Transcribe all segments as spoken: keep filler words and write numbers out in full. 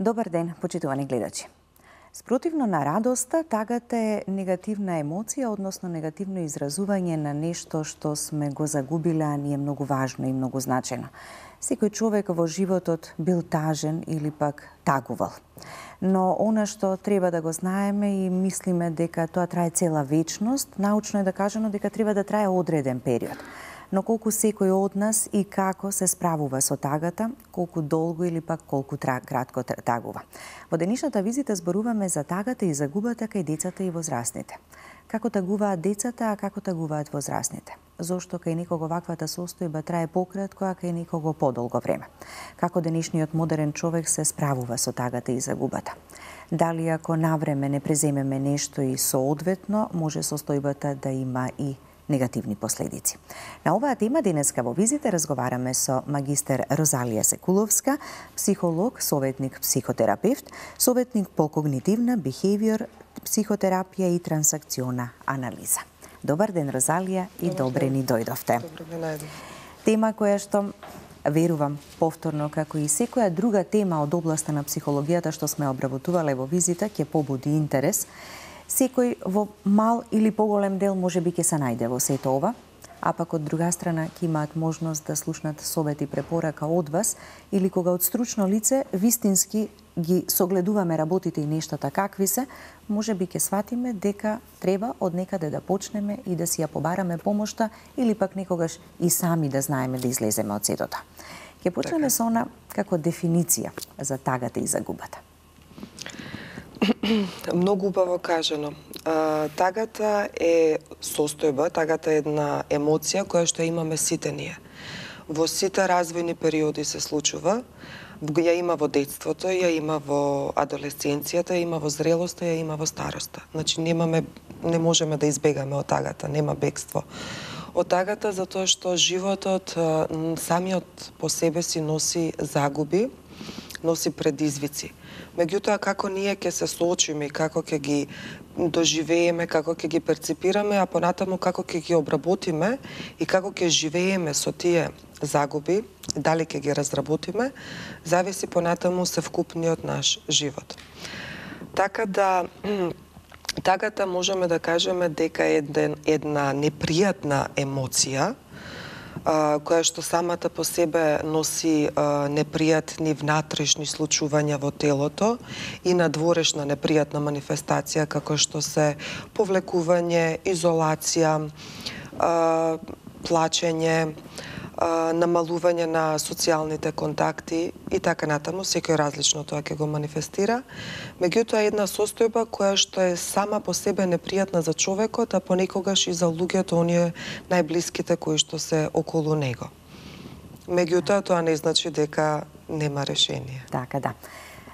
Добар ден, почитувани гледачи. Спротивно на радоста, тагата е негативна емоција, односно негативно изразување на нешто што сме го загубиле, а ни е многу важно и многу значено. Секој човек во животот бил тажен или пак тагувал. Но она што треба да го знаеме и мислиме дека тоа трае цела вечност, научно е да кажано дека треба да трае одреден период. Но колку секој од нас и како се справува со тагата, колку долго или пак колку кратко тагува. Во денешната визита зборуваме за тагата и загубата кај децата и возрастните. Како тагуваат децата, а како тагуваат возрастните? Зошто кај некого ваквата состојба трае пократко, а кај некого подолго време? Како денешниот модерен човек се справува со тагата и загубата? Дали ако навреме не преземеме нешто и соодветно, може состојбата да има и негативни последици. На оваа тема денеска во визита разговараме со магистер Розалија Секуловска, психолог, советник психотерапевт, советник по когнитивна, behavior, психотерапија и трансакциона анализа. Добар ден, Розалија, и добре ни дојдовте. Добре најден. Тема која што, верувам, повторно, како и секоја друга тема од областа на психологијата што сме обработувале во визита, ќе побуди интерес. Секој во мал или поголем дел може би ќе се најде во сето ова, а пак од друга страна ќе имаат можност да слушнат совет и препорака од вас или кога од стручно лице вистински ги согледуваме работите и нештата какви се, може би ќе сватиме дека треба од некаде да почнеме и да си ја побараме помошта или пак некогаш и сами да знаеме да излеземе од сето тоа. Ќе почнеме со она како дефиниција за тагата и загубата. Многу убаво кажано. Тагата е состојба, тагата е една емоција која што имаме сите ние. Во сите развојни периоди се случува, ја има во детството, ја има во адолесценцијата, ја има во зрелоста, ја има во староста. Значи немаме, не можеме да избегаме од тагата, нема бегство од тагата, затоа што животот самиот по себе си носи загуби, носи предизвици. Меѓутоа, како ние ќе се соочиме и како ќе ги доживееме, како ќе ги перципираме, а понатаму како ќе ги обработиме и како ќе живееме со тие загуби, дали ќе ги разработиме, зависи понатаму севкупниот наш живот. Така да, тагата можеме да кажеме дека е една непријатна емоција, која што самата по себе носи непријатни внатрешни случувања во телото и надворешна непријатна манифестација како што се повлекување, изолација, плачење, намалување на социјалните контакти и така натаму, секој различно тоа ќе го манифестира. Меѓутоа, една состојба која што е сама по себе непријатна за човекот, а понекогаш и за луѓето, оние најблиските кои што се околу него. Меѓутоа, тоа не значи дека нема решение. Така, да.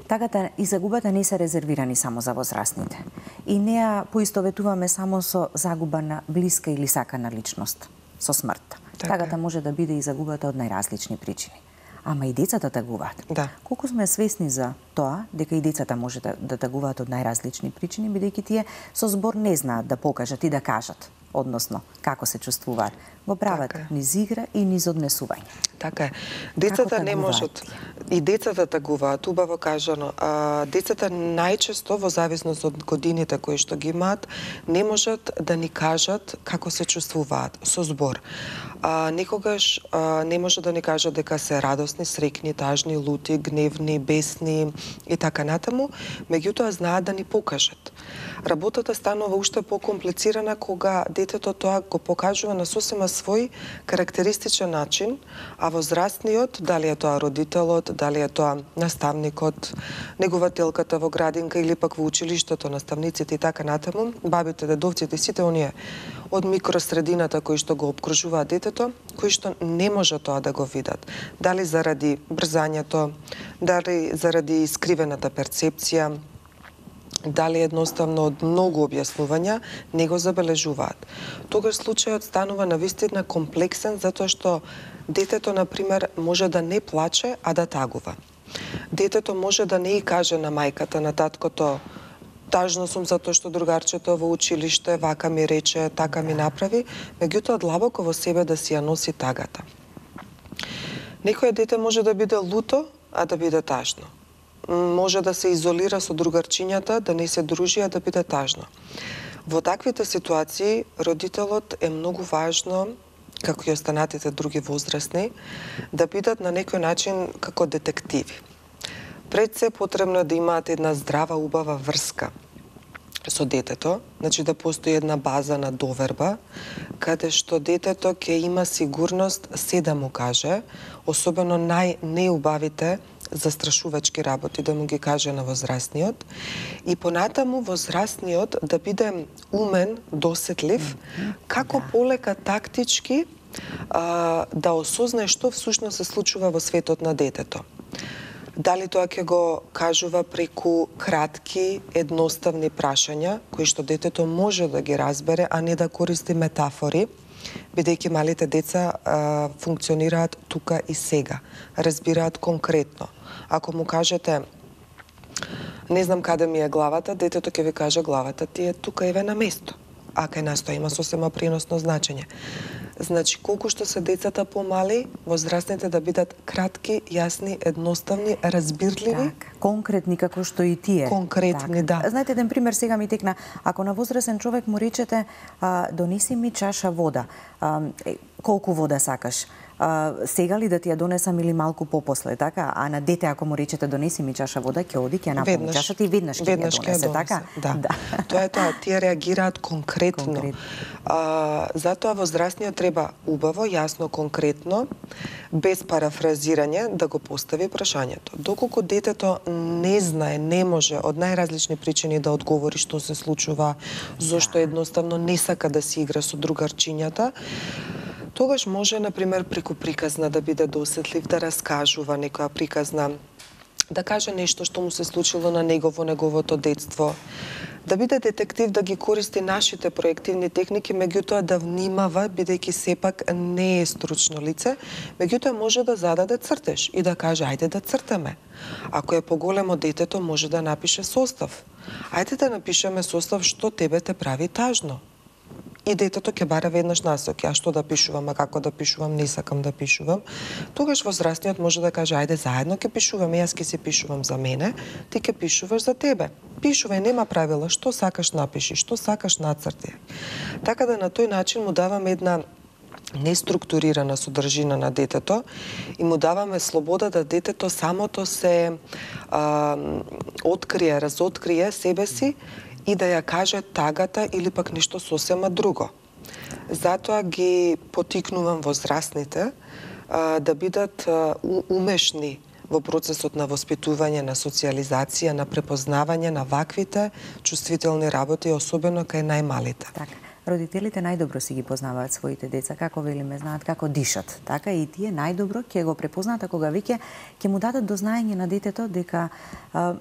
Тагата и загубата не се резервирани само за возрастните. И не ја поистоветуваме само со загуба на блиска или сакана личност, со смртта. Тагата може да биде и загубата од најразлични причини. Ама и децата тагуваат. Да. Колку сме свесни за тоа, дека и децата може да, да тагуваат од најразлични причини, бидејќи тие со збор не знаат да покажат и да кажат, односно, како се чувствуваат. Го прават така низ игра и низ однесување. Така е. Децата не можат. И децата тагуваат, убаво кажано. А, децата најчесто, во зависност од годините кои што ги имаат, не можат да ни кажат како се чувствуваат со збор. А, некогаш а, не може да ни кажат дека се радосни, срекни, тажни, лути, гневни, бесни и така натаму, меѓутоа знаат да ни покажат. Работата станува уште покомплицирана кога детето тоа го покажува на сосема свој карактеристичен начин, а возрастниот, дали е тоа родителот, дали е тоа наставникот, негователката во градинка или пак во училиштето, наставниците и така натаму, бабите, дедовците, сите оние од микросредината кои што го обкружуваат детето, кои што не може тоа да го видат. Дали заради брзањето, дали заради скривената перцепција, дали едноставно од многу објаснувања не го забележуваат. Тогаш случајот станува навистина комплексен затоа што детето, например, може да не плаче, а да тагува. Детето може да не и каже на мајката, на таткото, тажно сум затоа што другарчето во училиште вака ми рече, така ми направи, меѓутоа длабоко во себе да си ја носи тагата. Некој дете може да биде луто, а да биде тажно. може да се изолира со другарчињата, да не се дружи, а да биде тажно. Во таквите ситуации, родителот е многу важно, како и останатите други возрастни, да бидат на некој начин како детективи. Пред се потребно е да имаат една здрава, убава врска со детето, значи да постои една база на доверба, каде што детето ќе има сигурност се да му каже, особено најнеубавите застрашувачки работи да му ги каже на возрастниот, и понатаму возрастниот да биде умен, досетлив, како полека тактички а, да осознае што всушност се случува во светот на детето. Дали тоа ќе го кажува преку кратки, едноставни прашања, кои што детето може да ги разбере, а не да користи метафори, бидејќи малите деца а, функционираат тука и сега, разбираат конкретно. Ако му кажете, не знам каде ми е главата, детето ќе ви каже главата ти е тука еве на место. А кај нас тоа има сосема преносно значење. Значи, колку што се децата помали, возрастните да бидат кратки, јасни, едноставни, разбирливи. Так, конкретни како што и тие. Конкретни, так. да. Знаете, еден пример сега ми текна. Ако на возрастен човек му речете, а, донеси ми чаша вода, а, е, колку вода сакаш? А, сега ли да ти ја донесам или малку попосле, така? А на дете ако му речете донеси ми чаша вода, ќе оди, ќе наполни чашата и веднаш ќе ја донесе, така? Да. да. Тоа е тоа, тие реагираат конкретно. Конкретно. А, затоа возрастниот треба убаво, јасно, конкретно, без парафразирање да го постави прашањето. Доколку детето не знае, не може од најразлични причини да одговори што се случува, зошто едноставно не сака да се игра со другарчињата, тогаш може, например, преку приказна да биде досетлив, да раскажува некоја приказна, да каже нешто што му се случило на него во неговото детство, да биде детектив, да ги користи нашите проективни техники, меѓутоа да внимава, бидејќи сепак не е стручно лице, меѓутоа може да зададе цртеж и да каже, ајде да цртаме. Ако е поголемо детето, може да напише состав. Ајде да напишеме состав што тебе те прави тажно. И детето ќе бара веднаш насоки, а што да пишувам, а како да пишувам, не сакам да пишувам. Тогаш возрастниот може да каже, ајде заедно ќе пишуваме, јас ќе се пишувам за мене, ти ќе пишуваш за тебе. Пишувај, нема правила, што сакаш напиши, што сакаш нацрти. Така да на тој начин му даваме една неструктурирана содржина на детето и му даваме слобода да детето самото се а, открие, разоткрие себе си и да ја каже тагата или пак нешто сосема друго. Затоа ги потикнувам возрастните а, да бидат а, умешни во процесот на воспитување, на социјализација, на препознавање на ваквите чувствителни работи, особено кај најмалите. Така. Родителите најдобро си ги познаваат своите деца, како велиме, знаат како дишат. Така и тие најдобро ќе го препознаат кога веќе ќе му дадат до знаење на детето дека а,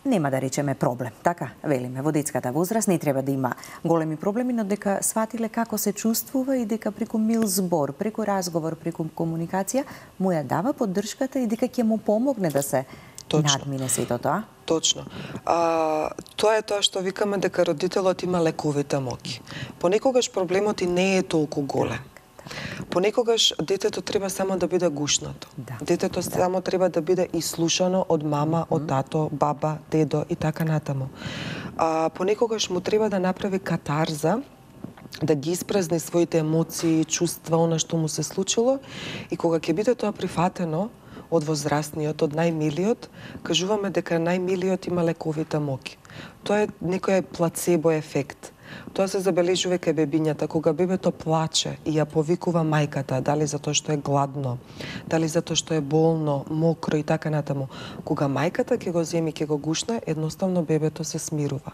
нема да речеме проблем, така велиме, во детската возраст не треба да има големи проблеми, но дека сватиле како се чувствува и дека преку мил збор, преку разговор, преку комуникација му ја дава поддршката и дека ќе му помогне да се Точно. надмине сето тоа. Точно. А, тоа е тоа што викаме дека родителот има лековита моќ. Понекогаш проблемот и не е толку голем. Понекогаш детето треба само да биде гушнато. Да. Детето да. само треба да биде ислушано од мама, од тато, баба, дедо и така натаму. А, понекогаш му треба да направи катарза, да ги испразни своите емоции, чувства, она што му се случило, и кога ќе биде тоа прифатено од возрастниот, од најмилиот, кажуваме дека најмилиот има лековита моќ. Тоа е некој плацебо ефект. Тоа се забележува кај бебињата, кога бебето плаче и ја повикува мајката, дали затоа што е гладно, дали затоа што е болно, мокро и така натаму. Кога мајката ќе го земи, ќе го гушне, едноставно бебето се смирува.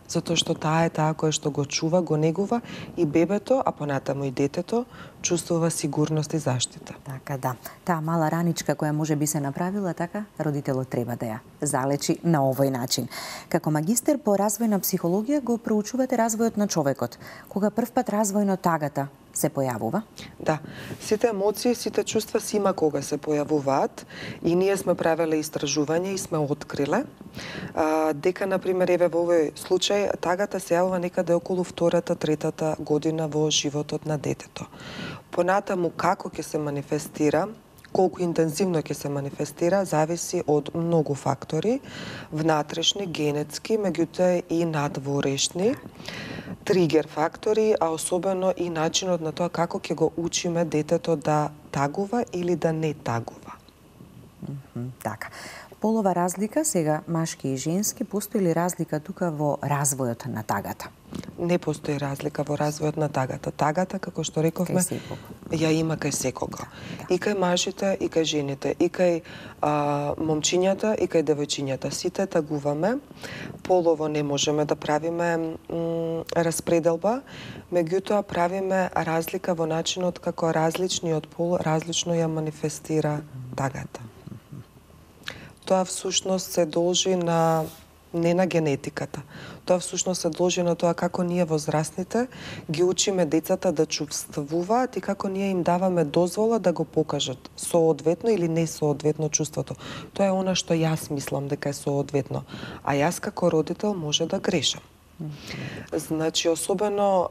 Затоа што таа е таа која што го чува, го негува и бебето, а понатаму и детето, чувствува сигурност и заштита. Така да. Таа мала раничка која може би се направила, така, родителот треба да ја залечи на овој начин. Како магистер по развојна психологија го проучувате развојот на човекот. Кога првпат развојно тагата се појавува? Да. Сите емоции, сите чувства си има кога се појавуваат и ние сме правеле истражување и сме откриле а, дека, например, еве во овој случај, тагата се јавува некаде околу втората, третата година во животот на детето. Понатаму како ќе се манифестира, Колку интензивно ќе се манифестира зависи од многу фактори, внатрешни, генетски, меѓутоа и надворешни, тригер фактори, а особено и начинот на тоа како ќе го учиме детето да тагува или да не тагува. Mm -hmm, така. Полова разлика, сега машки и женски, постои ли разлика тука во развојот на тагата? Не постои разлика во развојот на тагата. Тагата, како што рековме, ја има кај секого. Да. И кај мажите, и кај жените, и кај а, момчињата, и кај девојчињата. Сите тагуваме. Полово не можеме да правиме распределба, меѓутоа правиме разлика во начинот како различниот пол различно ја манифестира тагата. Тоа всушност се должи на не на генетиката. Тоа всушност се должи на тоа како ние возрастните ги учиме децата да чувствуваат и како ние им даваме дозвола да го покажат соодветно или не соодветно чувството. Тоа е она што јас мислам дека е соодветно, а јас како родител може да грешам. Значи, особено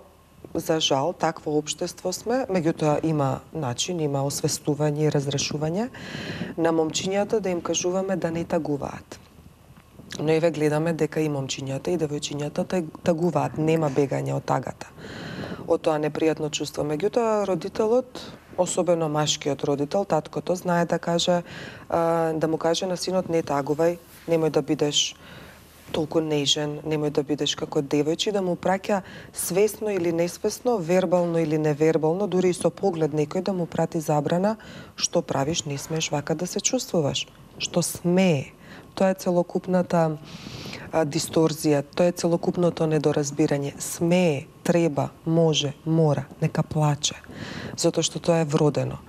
за жал, такво општество сме, меѓутоа има начин, има освестување и разрешување на момчињата да им кажуваме да не тагуваат. Но еве гледаме дека и момчињата и девојчињата тагуваат, нема бегање од тагата, од тоа непријатно чувство. Меѓутоа родителот, особено машкиот родител, таткото, знае да каже, да му каже на синот не тагувај, немој да бидеш толку нежен, немој да бидеш како девојче, да му праќа свесно или несвесно, вербално или невербално, дури и со поглед некој да му прати забрана, што правиш, не смееш вака да се чувствуваш, што смее. Тоа е целокупната а, дисторзија, тоа е целокупното недоразбирање. Смее, треба, може, мора, нека плаче, затоа што тоа е вродено.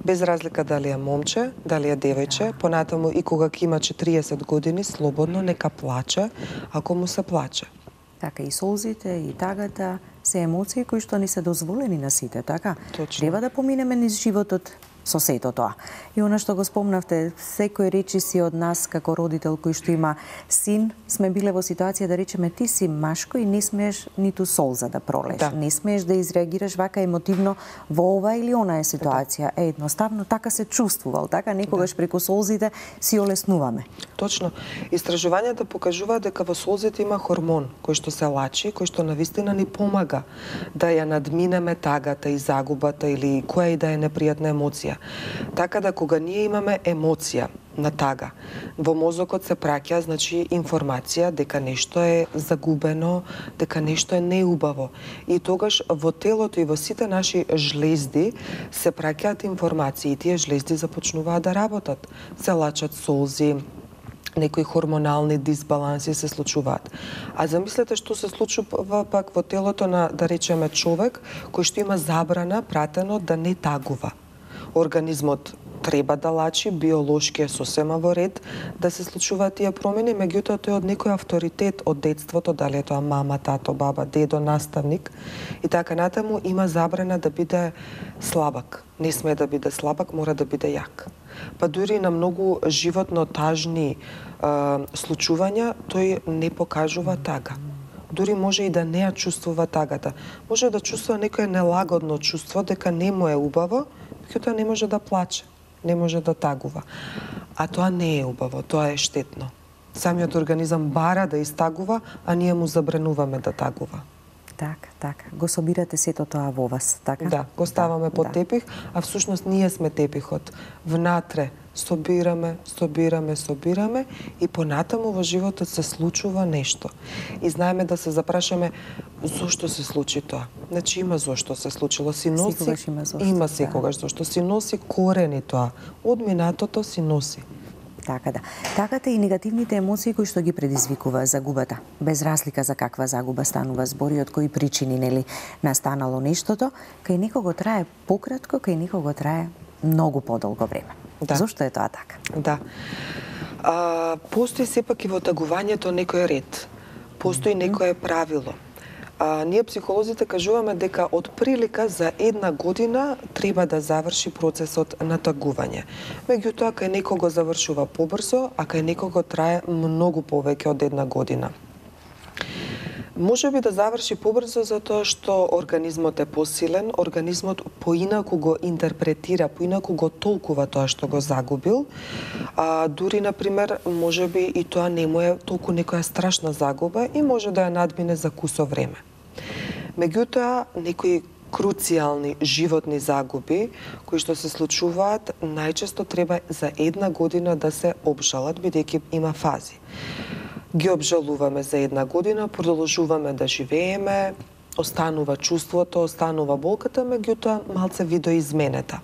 Без разлика дали е момче, дали е девојче, понатаму и кога ќе има четириесет години, слободно нека плаче, ако му се плаче. Така, и солзите, и тагата се емоции кои што ни се дозволени на сите, така? Точно. Треба да поминеме низ животот со сето тоа. И она што го спомнавте, секој речиси од нас како родител кој што има син, сме биле во ситуација да речеме ти си машко и не смееш ниту солза да пролеш. Да. Не смееш да изреагираш вака емотивно во ова или онаа ситуација. Да. Е, едноставно така се чувствувал, така некогаш да. Преку солзите си олеснуваме. Точно. Истражувањата покажуваат дека во солзите има хормон кој што се лачи, кој што навистина ни помага да ја надминеме тагата и загубата или која и да е непријатна емоција. Така да кога ние имаме емоција на тага, во мозокот се праќа, значи, информација дека нешто е загубено, дека нешто е неубаво. И тогаш во телото и во сите наши жлезди се праќаат информации и тие жлезди започнуваат да работат. Се лачат солзи, некои хормонални дисбаланси се случуваат. А замислете што се случува пак во телото на, да речеме, човек кој што има забрана пратено да не тагува. Организмот треба да лачи, биолошки е сосема во ред да се случуваат тие промени, меѓутоа тој од некој авторитет од детството, дали е тоа мама, тато, баба, дедо, наставник и така натаму, има забрана да биде слабак. Не смее да биде слабак, мора да биде јак. Па дури на многу животно тажни е, случувања, тој не покажува тага. Дури може и да не ја чувствува тагата. Може да чувствува некој нелагодно чувство, дека не му е убаво, меѓутоа не може да плаче, не може да тагува. А тоа не е убаво, тоа е штетно. Самиот организам бара да истагува, а ние му забрануваме да тагува. Така, така. Го собирате сето тоа во вас, така? Да, го ставаме да, под да. Тепих, а всушност ние сме тепихот. Внатре собираме, собираме, собираме и понатаму во животот се случува нешто. И знаеме да се запрашаме зошто се случи тоа. Значи има зошто се случило. Си носи, секогаш има зошто. Има секогаш да. Зошто. Си носи корени тоа. Од минатото си носи. Така да. Таката и негативните емоции кои што ги предизвикува загубата. Без разлика за каква загуба станува збори, од кои причини нели настанало нештото, кај некого трае пократко, кај некого трае многу подолго време. Да. Зошто е тоа така? Да. А, постои сепак и во тагувањето некој ред. Постои mm-hmm. некое правило. А, ние психолозите кажуваме дека од прилика за една година треба да заврши процесот на тагување. Меѓутоа, кај некого завршува побрзо, а кај некого трае многу повеќе од една година. Може би да заврши побрзо затоа што организмот е посилен, организмот поинаку го интерпретира, поинаку го толкува тоа што го загубил. А, дури, например, може би и тоа не му е толку некоја страшна загуба и може да ја надмине за кусо време. Меѓутоа, некои круцијални животни загуби кои што се случуваат, најчесто треба за една година да се обжалат, бидејќи има фази. Ги обжалуваме за една година, продолжуваме да живееме, останува чувството, останува болката, меѓутоа малце видоизменета.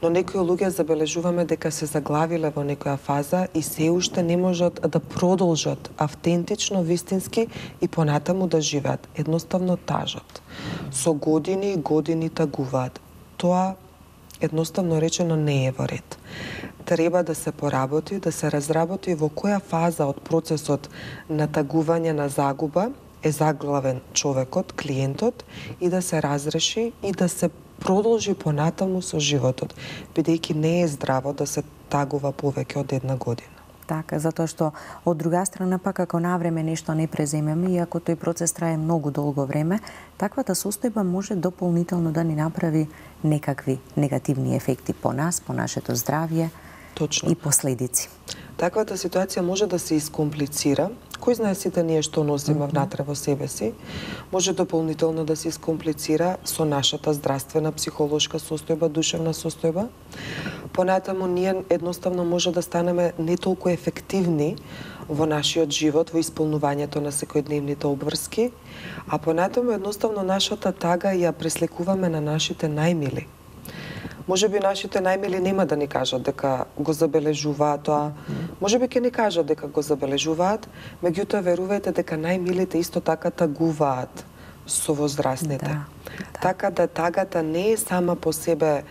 Но некои луѓе забележуваме дека се заглавиле во некоја фаза и се уште не можат да продолжат автентично, вистински и понатаму да живеат. Едноставно тажат. Со години и години тагуваат. Тоа, едноставно речено, не е во ред. Треба да се поработи, да се разработи во која фаза од процесот на тагување на загуба е заглавен човекот, клиентот, и да се разреши и да се продолжи понатаму со животот, бидејќи не е здраво да се тагува повеќе од една година. Така, затоа што од друга страна пак ако навреме нешто не преземеме и ако тој процес трае многу долго време, таквата состојба може дополнително да ни направи некакви негативни ефекти по нас, по нашето здравје. Точно. И последици. Таквата ситуација може да се искомплицира. Кој знае сите ние што носиме mm-hmm. внатре во себе си, може дополнително да се искомплицира со нашата здравствена, психолошка состојба, душевна состојба. Понатаму ние едноставно може да станеме не толку ефективни во нашиот живот, во исполнувањето на секојдневните обврски, а понатаму едноставно нашата тага ја пресликуваме на нашите најмили. Може би нашите најмили нема да ни кажат дека го забележуваат тоа. Може би ќе ни кажат дека го забележуваат, меѓутоа верувајте дека најмилите исто така тагуваат со возрастните. Да, да. Така да тагата не е сама по себе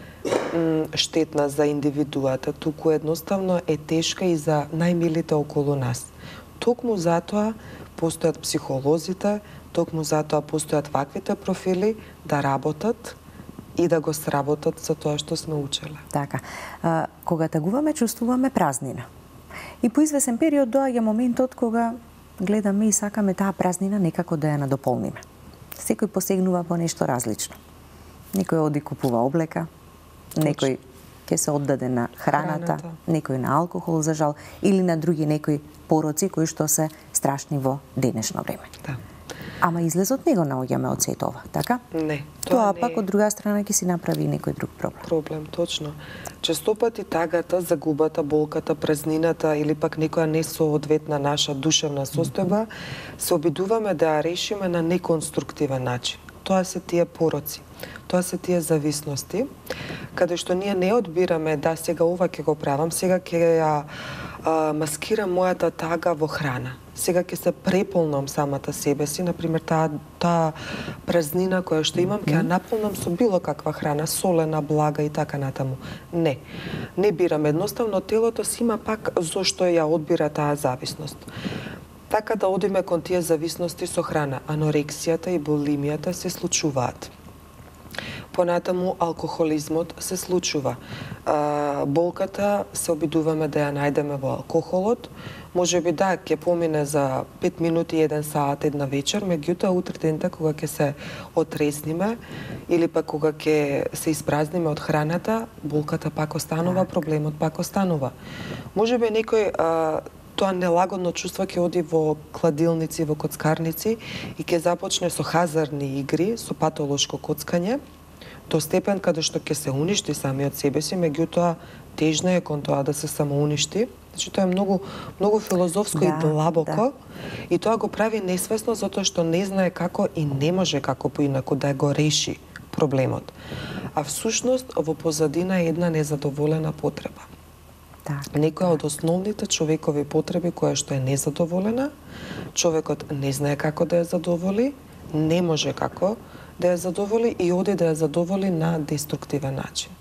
м, штетна за индивидуата, туку едноставно е тешка и за најмилите околу нас. Токму затоа постојат психолозите, токму затоа постојат ваквите профили да работат и да го сработат за тоа што сме учеле. Така. А, кога тагуваме, чувствуваме празнина. И по извесен период доаѓа моментот кога гледаме и сакаме таа празнина некако да ја надополниме. Секој посегнува по нешто различно. Некој оди купува облека, некој ќе се оддаде на храната, храната, некој на алкохол, за жал, или на други некои пороци кои што се страшни во денешно време. Да. Ама излезот не го наоѓаме од сето ова, така? Не. Тоа, тоа не пак е... од друга страна ќе си направи некој друг проблем. Проблем, точно. Честопати тагата, загубата, болката, празнината или пак некоја несоодветна наша душевна состојба, mm-hmm. се обидуваме да ја решиме на неконструктивен начин. Тоа се тие пороци. Тоа се тие зависности, каде што ние не одбираме да сега ова ќе го правам, сега ќе ја а, маскирам мојата тага во храна. Сега ќе се преполнам самата себе си, например таа таа празнина која што имам ќе ја наполнам со било каква храна, солена, блага и така натаму. Не. Не бирам, едноставно телото си има пак зошто ја одбира таа зависност. Така да одиме кон тие зависности со храна. Анорексијата и булимијата се случуваат. Понатаму алкохолизмот се случува. А, болката се обидуваме да ја најдеме во алкохолот. Може би да, ќе помине за пет минути, еден саат, една вечер, меѓутоа утре дента кога ќе се отресниме или пак кога ќе се испразниме од храната, болката пак останува, проблемот пак останува. Може би некој а, тоа нелагодно чувство ќе оди во кладилници, во коцкарници и ќе започне со хазарни игри, со патолошко коцкање, до степен каде што ќе се уништи самиот себе си, меѓутоа тежно е кон тоа да се самоуништи. Значи тоа е многу многу филозофско да, и длабоко, да. И тоа го прави несвесно затоа што не знае како и не може како поинаку да го реши проблемот. А всушност во позадина е една незадоволена потреба. Да, Некоја да. од основните човекови потреби која што е незадоволена, човекот не знае како да ја задоволи, не може како да ја задоволи и оди да ја задоволи на деструктивен начин.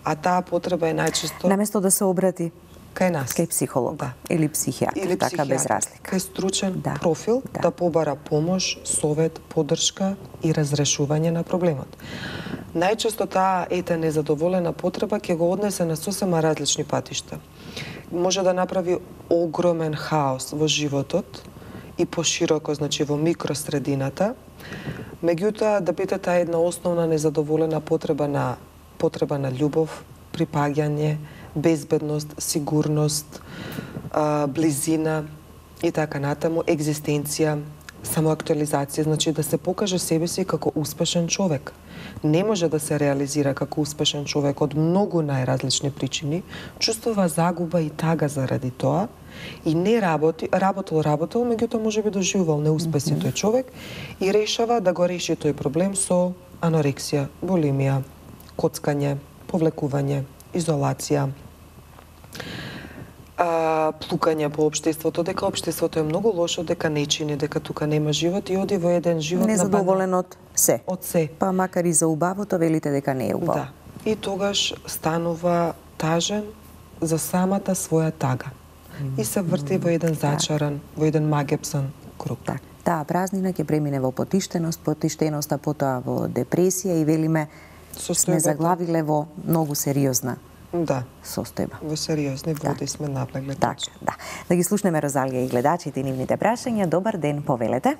А таа потреба е најчесто наместо да се обрати кај нас, кај психолог, да. Или психијатар, или така психијатар, без разлика. Кај стручен да. профил да. да побара помош, совет, поддршка и разрешување на проблемот. Најчесто таа ета незадоволена потреба ќе го однесе на сосема различни патишта. Може да направи огромен хаос во животот и пошироко, значи во микросредината. Меѓутоа, дебетето е една основна незадоволена потреба на потреба на љубов, припаѓање, безбедност, сигурност, близина и така натаму, екзистенција, самоактуализација, значи да се покаже себе си како успешен човек. Не може да се реализира како успешен човек од многу најразлични причини, чувствува загуба и тага заради тоа и не работи, работел, работел, меѓутоа можеби доживувал неуспеси mm -hmm. тој човек и решава да го реши тој проблем со анорексија, булимија, коцкање, повлекување, изолација, а, плукање по општеството, дека општеството е многу лошо, дека не чини, дека тука нема живот и оди во еден живот незадоволен на од се. Од се. Па макар и за убавото велите дека не е убаво. Да. И тогаш станува тажен за самата своја тага. Mm. И се врти mm. во еден зачаран, да. во еден магепсан круг. Так. Таа празнина ќе премине во потиштеност, потиштеноста потоа во депресија и велиме сме заглавиле во многу сериозна да. состојба. Во сериозни води да. сме навлегле. Така, да. Да ги слушнеме Розалија и гледачите и нивните прашања. Добар ден, повелете.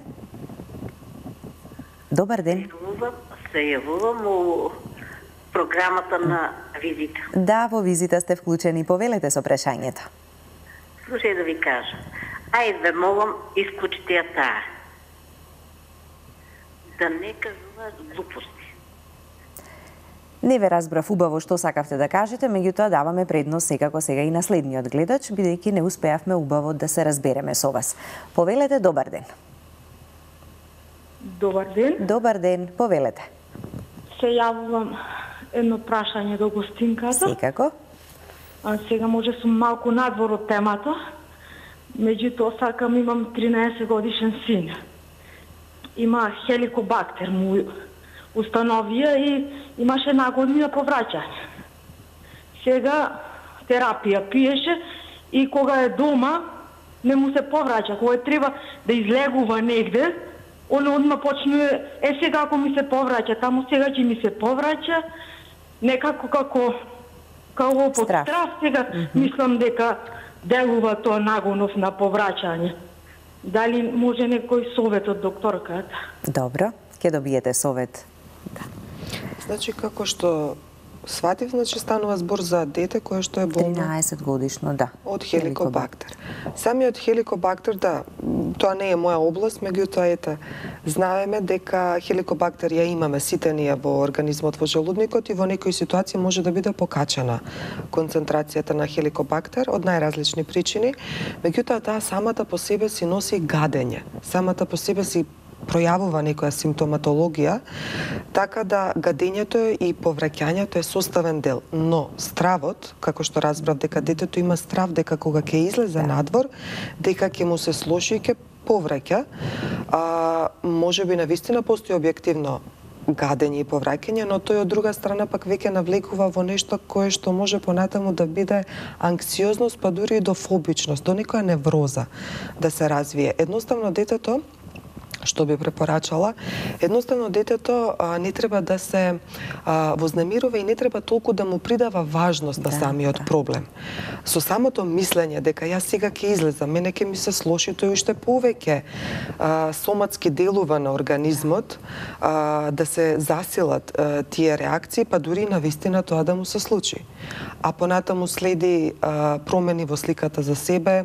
Добар ден. Се јавувам у програмата на визита. Да, во визита сте вклучени. Повелете со прашањето. Слушај да ви кажа. Ајде ве молам, исклучите ја таа. Да не кажуваат глупости. Не ве разбрав убаво што сакавте да кажете, меѓутоа даваме предност секако сега и на следниот гледач, бидејќи не успеавме убаво да се разбереме со вас. Повелете, добар ден. Добар ден. Добар ден, повелете. Се јавувам едно прашање до гостинката. Секако. А сега може сум малку надвор од темата, меѓутоа сакам, имам тринаесет годишен син. Има хеликобактер му установија и имаше нагоднина повраќање. Сега терапија пиеше и кога е дома не му се повраќа. Кога треба да излегува негде, он одма почнува, е сега ако ми се повраќа, таму сега ќе ми се повраќа, некако како како под страх. страх сега mm -hmm. мислам дека делува тоа нагонов на повраќање. Дали може некој совет од докторката? Добро, ќе добиете совет. Да. Значи, како што сватив, значи станува збор за дете кое што е болно тринаесет годишно, да. Од хеликобактер. Самиот хеликобактер, да, тоа не е моја област, меѓутоа ете, знаеме дека хеликобактер ја имаме сите ние во организмот, во желудникот и во некои ситуации може да биде покачена концентрацијата на хеликобактер од најразлични причини, меѓутоа таа самата по себе си носи гадење, самата по себе си пројавува некоја симптоматологија, така да гадењето и повраќањето е составен дел. Но стравот, како што разбрав дека детето има страв дека кога ќе излезе да. надвор, дека ќе му се слоши и ќе повраќа, а, може би навистина постои објективно гадење и повраќање, но тој од друга страна пак веќе навлекува во нешто кое што може понатаму да биде анксиозност, па дури и до фобичност, до некоја невроза да се развие. Едноставно детето што би препорачала, едноставно детето а, не треба да се а, вознемирува и не треба толку да му придава важност на да, самиот да. проблем. Со самото мислење дека јас сега ќе излезам, мене ќе ми се слоши, тој уште повеќе а, соматски делува на организмот, а, да се засилат а, тие реакции, па дури на вистина тоа да му се случи. А понатаму следи а, промени во сликата за себе,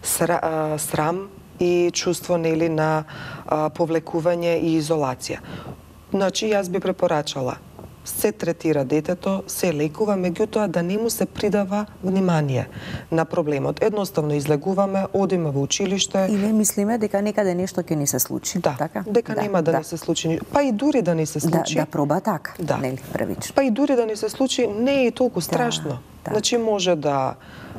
сра, а, срам, и чувство нели на а, повлекување и изолација. Значи, јас би препорачала се третира детето, се лекува, меѓутоа да не му се придава внимание на проблемот. Едноставно излегуваме, одиме во училиште. И не мислиме дека некаде нешто ќе ни се случи. Да, така? дека да, нема да, да не се случи. Па и дури да не се случи. Да, да проба така, да. нели, првично. Па и дури да не се случи, не е толку страшно. Да, да. Значи, може да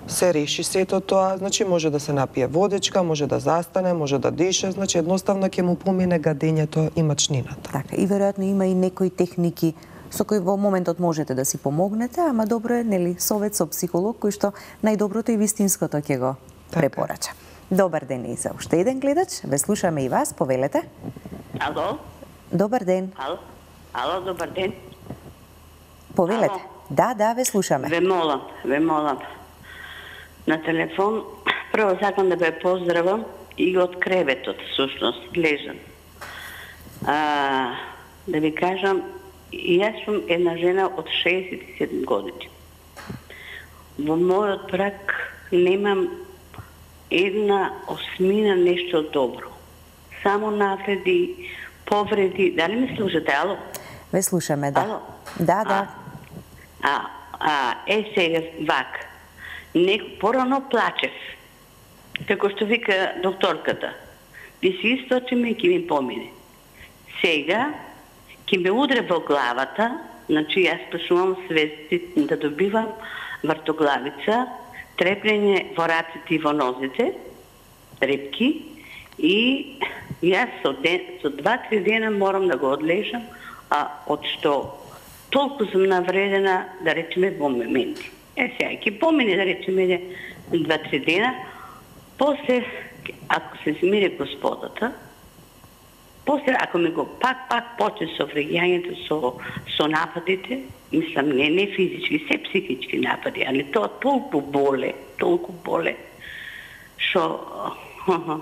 се реши сето тоа, значи може да се напие водичка, може да застане, може да дише, значи едноставно ќе му помине гадењето и мачнината. Така, и веројатно има и некои техники со кои во моментот можете да си помогнете, ама добро е, нели, совет со психолог кој што најдоброто и вистинското ќе го така препорача. Добар ден и за уште еден гледач, ве слушаме и вас, повелете. Ало? Добар ден. Ало? Ало, добар ден. Повелете. Ало? Да, да, ве слушаме. Ве молам, ве молам. На телефон, прво сакам да ве поздравам и од креветот, всушност, лежам. А, да ви кажам, јас сум една жена од шеесет и седум години. Во мојот брак немам една осмина нешто добро. Само навреди, повреди. Дали ме слушате, ало? Ве слушаме, да. Ало? Да, да. А, а, е сега вак. Не, порано плачев. Како што вика докторката. Би си источиме и ки ми помине. Сега, ки ме удре во главата, значи јас почнувам свести да добивам вртоглавица, трепнење во раците и во нозите, трепки, и јас со, ден, со два-три дена морам да го одлежам, а од што толку сум навредена, да речеме, во моменти. Е, сега, ки помине, да речеме, два-три дена, после, ако се смире Господата, после, ако ми го пак-пак почне со вреѓањето, со, со нападите, мислам, не, не физички, се психички напади, али тоа толку боле, толку боле, што,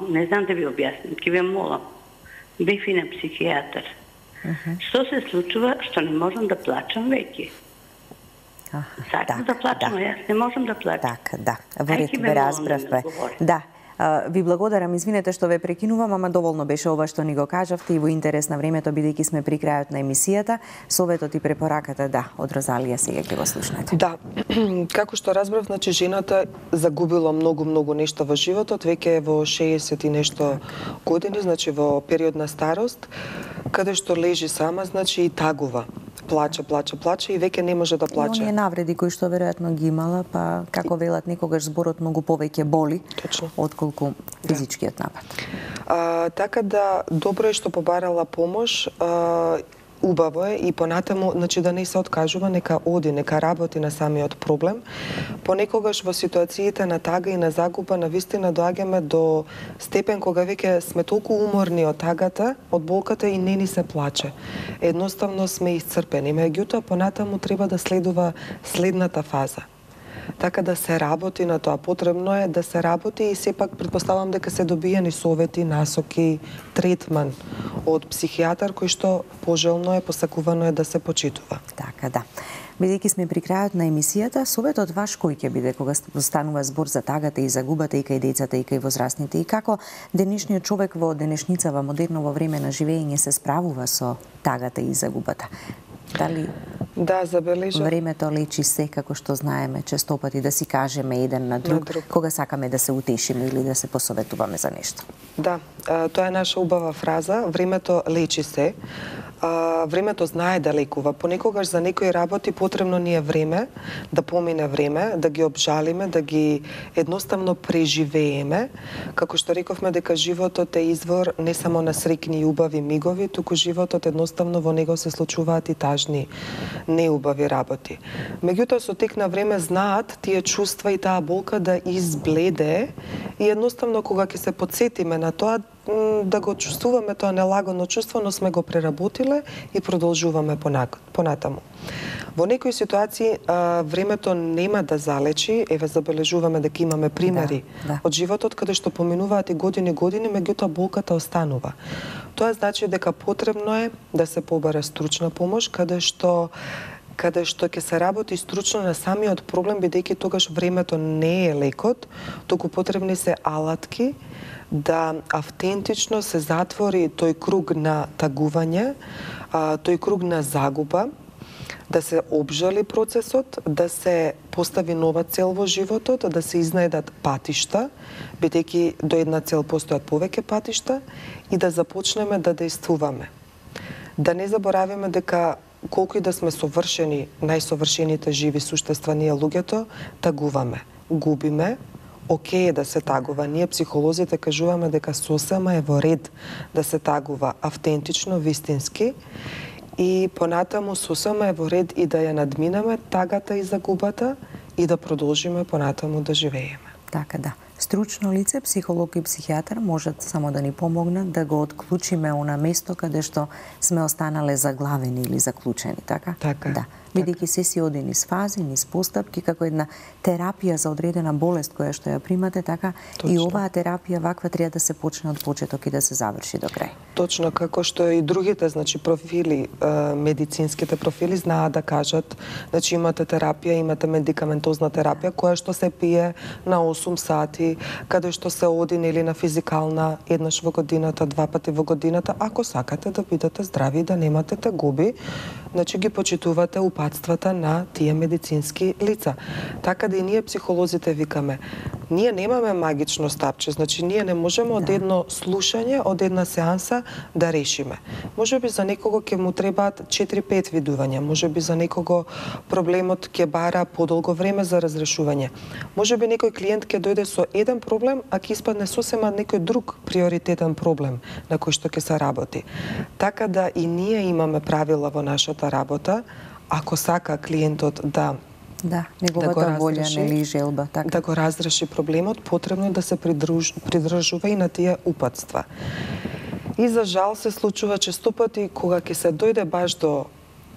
не знам да ви објаснам, ке ве молам, бев и на психијатар. Uh-huh. Што се случува, што не можам да плачам веќе. Uh, Сакам да плачам, да. Јас не можам да плачам. Така, да. Во ред ве разбравме. Да. Ви благодарам, извинете што ве прекинувам, ама доволно беше ова што ни го кажавте и во интерес на времето, бидејќи сме при крајот на емисијата. Советот и препораката, да, од Розалија сега ќе го слушнете. Да, како што разбрав, значи жената загубила многу, многу нешто во животот, веќе е во шеесет и нешто години, значи во период на старост, каде што лежи сама, значи и тагува. Плаче, плаче, плаче и веќе не може да плаче. И оние навреди кои што веројатно ги имала, па како велат некогаш зборот многу повеќе боли, точно, отколку физичкиот напад. А, така да добро е што побарала помош, а, убаво е и понатаму, значи да не се откажува, нека оди, нека работи на самиот проблем. Понекогаш во ситуациите на тага и на загуба навистина доаѓаме до степен кога веќе сме толку уморни од тагата, од болката и не ни се плаче. Едноставно сме исцрпени, меѓутоа понатаму треба да следува следната фаза. Така да се работи на тоа, потребно е да се работи и сепак претпоставам дека се добиени совети, насоки, третман од психијатар кој што пожелно е, посакувано е да се почитува. Така да. Бидејќи сме при крајот на емисијата, советот ваш кој ќе биде кога станува збор за тагата и загубата и кај децата и кај возрастните, и како денешниот човек во денешница, во модерно во време на живење се справува со тагата и загубата? Дали да, забележа. Времето лечи се, како што знаеме, често пати да си кажеме еден на друг, на друг, кога сакаме да се утешиме или да се посоветуваме за нешто. Да, тоа е наша убава фраза, времето лечи се. Времето знае да лекува. Понекогаш за некои работи потребно ни е време, да помине време, да ги обжалиме, да ги едноставно преживееме. Како што рековме дека животот е извор не само на среќни и убави мигови, туку животот едноставно во него се случуваат и тажни, неубави работи. Меѓутоа со тек на време знаат тие чувства и таа болка да избледе и едноставно кога ќе се потсетиме на тоа, да го чувствуваме тоа нелагодно чувство, но сме го преработиле и продолжуваме понатаму. Во некои ситуации а, времето нема да залечи, еве забележуваме дека имаме примери да, да. од животот каде што поминуваат и години години, меѓутоа болката останува. Тоа значи дека потребно е да се побара стручна помош, каде што каде што ќе се работи стручно на самиот проблем, бидејќи тогаш времето не е лекот, туку потребни се алатки да автентично се затвори тој круг на тагување, тој круг на загуба, да се обжали процесот, да се постави нова цел во животот, да се изнајдат патишта, бидејќи до една цел постојат повеќе патишта, и да започнеме да дејствуваме. Да не заборавиме дека колку и да сме совршени, најсовршените живи суштества ние луѓето, тагуваме, губиме. Океј е да се тагува. Ние психолозите кажуваме дека сосема е во ред да се тагува автентично, вистински, и понатаму сосема е во ред и да ја надминеме тагата и загубата и да продолжиме понатаму да живееме. Така да. Стручно лице, психолог и психијатар можат само да ни помогнат да го отклучиме она место каде што сме останале заглавени или заклучени, така? Така. Да. бидејќи се си оди низ фази, низ постапки, како една терапија за одредена болест која што ја примате, така Точно. И оваа терапија ваква треба да се почне од почеток и да се заврши до крај. Точно, како што и другите, значи профили, медицинските профили знаат да кажат, значи имате терапија, имате медикаментозна терапија која што се пие на осум сати, каде што се оди нели на физикална еднаш во годината, два пати во годината, ако сакате да бидете здрави и да немате тегоби, значи ги почитувате упатствата на тие медицински лица. Така да и ние психолозите викаме, ние немаме магично стапче, значи ние не можеме од едно слушање, од една сеанса да решиме. Може би за некого ќе му требаат четири-пет видувања, може би за некого проблемот ќе бара подолго време за разрешување. Може би некој клиент ќе дојде со еден проблем, а ќе испадне сосема некој друг приоритетен проблем на кој што ќе се работи. Така да и ние имаме правила во нашата работа, ако сака клиентот да Да, неговата да волја, нели желба, така. Да го разреши проблемот, потребно е да се придруж, придржува и на тие упатства. И за жал се случува често пати кога ќе се дојде баш до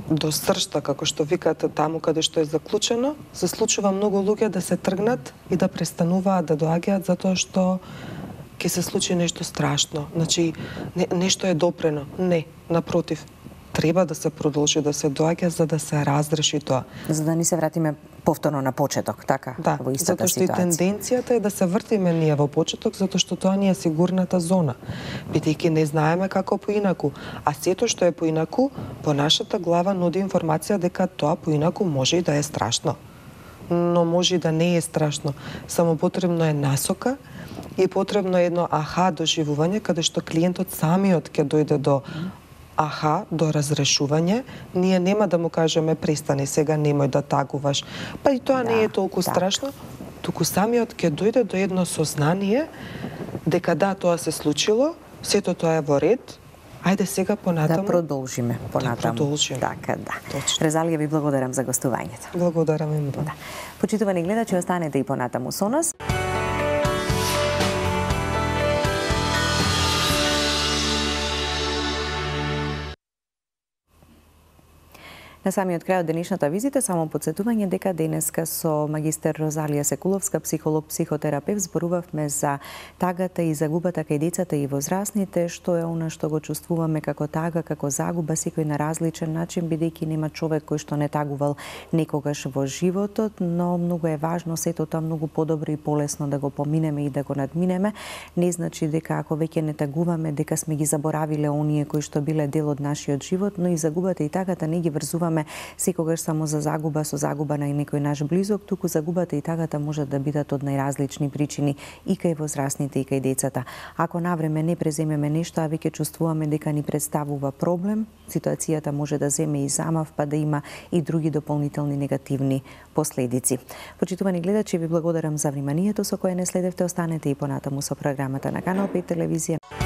до сршта, како што викате, таму каде што е заклучено, се случува многу луѓе да се тргнат и да престануваат да доаѓаат затоа што ќе се случи нешто страшно. Значи, не, нешто е допрено. Не, напротив, треба да се продолжи да се доаѓа за да се разреши тоа. За да ни се вратиме повторно на почеток, така, да, во истата затоа што ситуација. И тенденцијата е да се вртиме ние во почеток, затоа што тоа ни е сигурната зона. Бидејќи не знаеме како поинаку, а сето што е поинаку, по нашата глава нуди информација дека тоа поинаку може и да е страшно. Но може и да не е страшно. Само потребно е насока и потребно е едно аха доживување каде што клиентот самиот ќе дојде до аха, до разрешување. Ние нема да му кажеме престани сега, немој да тагуваш. Па и тоа да, не е толку так. страшно, туку самиот ќе дојде до едно сознание дека да, тоа се случило, сето тоа е во ред. Ајде сега понатаму. Да продолжиме понатаму. Да продолжиме. Така, да. Точно. Резалија, ви благодарам за гостувањето. Благодарам им. Да. Почитувани гледачи, останете и понатаму со нас. На самиот крај од денешната визита, само подсетување дека денеска со магистер Розалија Секуловска, психолог, психотерапевт, зборувавме за тагата и загубата кај децата и возрастните, што е она што го чувствуваме како тага, како загуба, секој на различен начин, бидејќи нема човек кој што не тагувал некогаш во животот, но многу е важно сето тоа многу подобро и полесно да го поминеме и да го надминеме. Не значи дека ако веќе не тагуваме, дека сме ги заборавиле оние кои што биле дел од нашиот живот, но и загубата и тагата не ги врзуваме секогаш само за загуба со загуба на некој наш близок, туку загубата и тагата може да бидат од најразлични причини и кај возрастните и кај децата. Ако навреме не преземеме нешто, а веќе чувствуваме дека ни представува проблем, ситуацијата може да земе и замав, па да има и други дополнителни негативни последици. Почитувани гледачи, ви благодарам за вниманието со кое не следевте. Останете и понатаму со програмата на Канал пет телевизија.